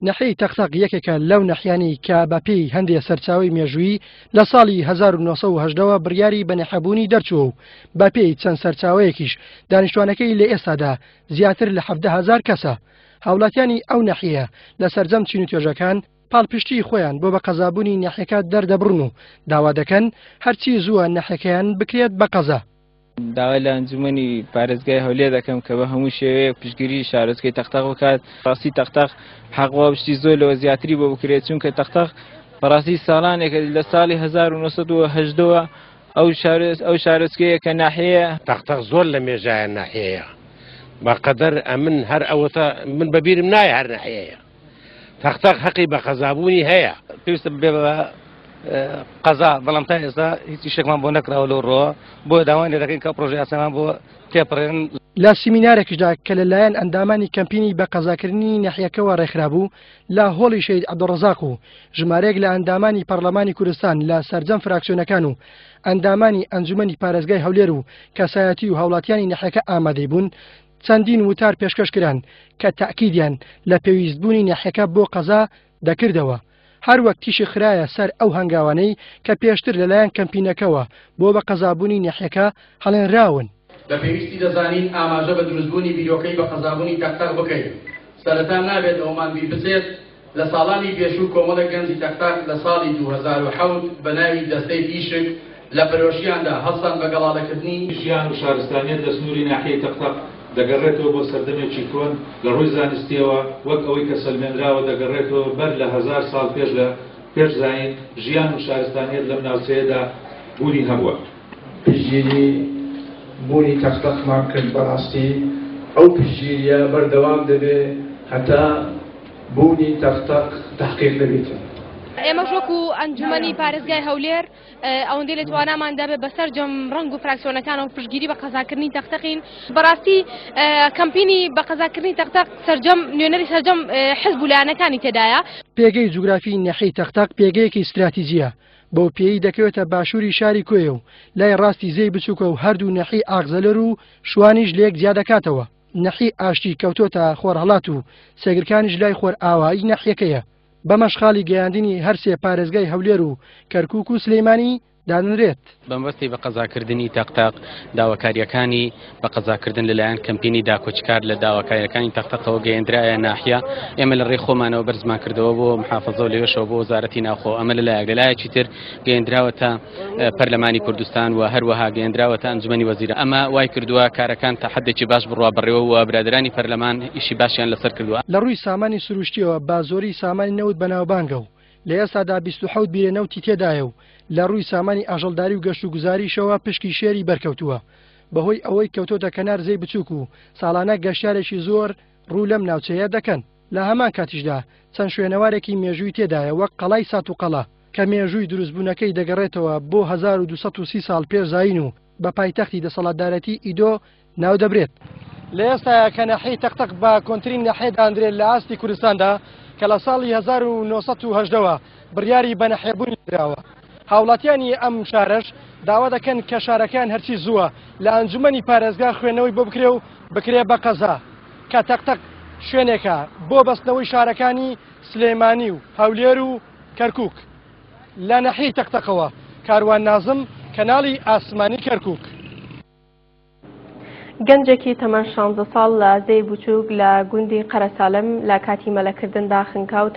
ناحیەی تەقتەق یەکێکە لەو ناحیانەی کە بەپێی هەندێ سەرچاوەی مێژوویی لە ساڵی 1918 ەوە بڕیاری بەناحیەبوونی دەرچووە و بەپێی چەند سەرچاوەیەکیش دانیشتوانەکەی لە ئێستادا زیاتر لە 17 هەزار کەسە. هاوڵاتیانی ئەو ناحیەیە لە سەرجەم چین و توێژەکان پاڵپشتیی خۆیان بۆ بە قەزابوونی ناحیەکە دەردەبڕن و داوا دەکەن هەرچی زووە ناحیەکەیان بکرێت بە قەزا. داوای لە ئەنجومەنی پارێزگای هەولێر دەکەم کە بە هەموو شێوەیەک پشتگیری شارۆچکەی تەختەق بکات. ڕاستی تەختەق حەق وا شتی زۆر لەوە زیاتری بۆ بکرێت، چونکە تەختەق بەڕاستی ساڵانێکە لە ساڵی 1970ەوە ئەو ئەو شارۆچکەیە کە ناحیەیە. تەختەق زۆر لە مێژایە ناحیەیە بەقەدەر ئەمن هەر ئەوەتە من بەبیرم نایە هەر ناحیەیە. تەختەق هەقی بە قەزابوونی هەیە. پێویستە ببێ بە قەزا، بەڵام تا ئێستا هیچ ئیشێکمان بۆ نەکراوە لەو ڕووەوە، بۆیە داوایان لێ دەکەین کە ئەو پڕۆژە یاسایەمان بۆ تێپەڕێنن. لە سیمینارێکیشدا کە لە لایەن ئەندامانی کەمپینی بە قەزاکردنی ناحیەکەوە ڕێکخرابوو لە هۆڵی شەهید عەبدولڕەزاق و ژمارەیەک لە ئەندامانی پەڕلەمانی کوردستان لە سەرجەم فراکسیۆنەکان و ئەندامانی ئەنجومەنی پارێزگای هەولێر و کەسایەتی و هاوڵاتیانی ناحیەکە ئامادەی بوون چەندین وتار پێشکەش کران کە تەئکیدیان لە پێویستبوونی ناحیەکە بۆ قەزا دەکردەوە، هەروەک تیشک خرایە سەر ئەو هەنگاوانەی کە پێشتر لەلایەن کەمپینەکەوە بۆ بە قەزابوونی ناحیەکە هەڵێنراون. بە پێویستی دەزانین ئاماژە بە دروستبوونی بیرۆکەی بە قەزابوونی تەقتەق بکەین. سەرەتا نابێت ئەوەمان بیر بچێت لە ساڵانی پێشوو کۆمەڵێک گەنجی تەقتەق لە ساڵی 2007 بە ناوی دەستەی تیشک لە پەرۆشیاندا هەڵسان بە گەڵاڵەکردنی ژیان و شارستانیەت لە سنووری ناحیەی تەقتەق دەگەڕێتەوە بۆ سەردەمێکی کۆن، لە ڕووی زانستییەوە وەک ئەوەی کە سەلمێنراوە دەگەڕێتەوە بەر لە هەزار ساڵ پێش لە پێش زایین، ژیان و شارستانیەت لەم ناوچەیەدا بوونی هەبووە. پشتگیری بوونی تەقتەقمان کرد، بەڕاستی ئەو پشتگیرییە بەردەوام دەبێ هەتا بوونی تەقتەق تەحقیق دەبێتن. ئێمەش وەکو ئەنجومەنی پارێزگای هەولێر ئەوەندەی لە تواناماندا بێت بە سەرجەم ڕەنگ و فراکسیۆنەکانەوە پشتگیری بە قەزاکردنی تەقتەقین. بەڕاستی کەمپینی بە قەزاکردنی تەقتەق سەرجەم نوێنەری سەرجەم حزب و لایەنەکانی تێدایە. پێگەی جوگرافی ناحیەی تەقتەق پێگەیەکی ستراتیجییە، بەو پێیەی دەکەوێتە باشووری شاری کۆیە و لای ڕاستی زێی بچووکە و هەردوو ناحیەی ئاغزەلەر و شوانیش لەیەک جیادەکاتەوە. ناحیەی ئاشتی کەوتۆتە خۆرهەڵات و سێگرکانیش لای خۆرئاوایی ناحیەکەیە. بەمەش خاڵی گەیاندنی هەرسێ پارێزگای هەولێر و کەرکوک و سلیمانی دادەنرێت. بەمەبەستی بە قەزاکردنی تەقتەق، داواکارییەکانی بە قەزاکردن لەلایەن کەمپینی داکۆکیکار لە داواکارییەکانی تەقتەقەوە گەیەندرایە ناحیە، ئێمە لە ڕێی خۆمانەوە بەرزمان کردەوە بۆ محافەزە و لەوێشەوە بۆ وەزارەتی ناوخۆ، ئەمە لەلایەک، لەلایەکی تر گەیەندراوەتە پەرلەمانی کوردستان و هەروەها گەیەندراوەتە ئەنجومەنی وەزیران، ئەمە وای کردووە کارەکان تا حەدێکی باش بڕوا بەڕێوە و برادەرانی پەرلەمان ئیشی باشیان لەسەر کردووە. لە ڕووی سامانی سروشتییەوە بە زۆری سامانی نەوت بەناوبانگە و لە ئێستادا 27 بیرە نەوتی تێدایە و لە ڕووی سامانی ئاژەڵداری و گەشتوگوزاریشەوە پشکی شێری بەرکەوتووە بەهۆی ئەوەی کەوتۆتە کەنار زێی بچووک و ساڵانە گەشتیارێکی زۆر ڕوو لەم ناوچەیە دەکەن. لە هەمان کاتیشدا چەند شوێنەوارێکی مێژووی تێدایە وەک قەڵای ساتوقەڵا کە مێژووی دروستبوونەکەی دەگەڕێتەوە بۆ 1230 ساڵ پێش زایین و بە پایتەختی دەسەڵاتدارێتی ئیدۆ ناودەبرێت. لە ئێستایا کە ناحیەی تەقتەق بە کۆنترین ناحیە داندرێت لە ئاستی کوردستاندا کە لە ساڵی 1918 وە بڕیاری بە ناحیەبوونی دراوە، هاوڵاتیانی ئەم شارەش داوا دەکەن کە شارەکەیان هەرچی زووە لە ئەنجومەنی پارێزگا خوێندنەوەی بۆ بکرێ و بکرێ بە قەزا کە تەقتەق شوێنێکە بۆ بەستنەوەی شارەکانی سلێمانی و هەولێر و کەرکوک. لە ناحیەی تەقتەقەوە کاروان نازم، کەناڵی ئاسمانی کەرکوک. گەنجێکی تەمەن شانزە ساڵ لە زێی بچووک لە گوندی قەرەسالم لە کاتی مەلەکردندا خنکا و تا.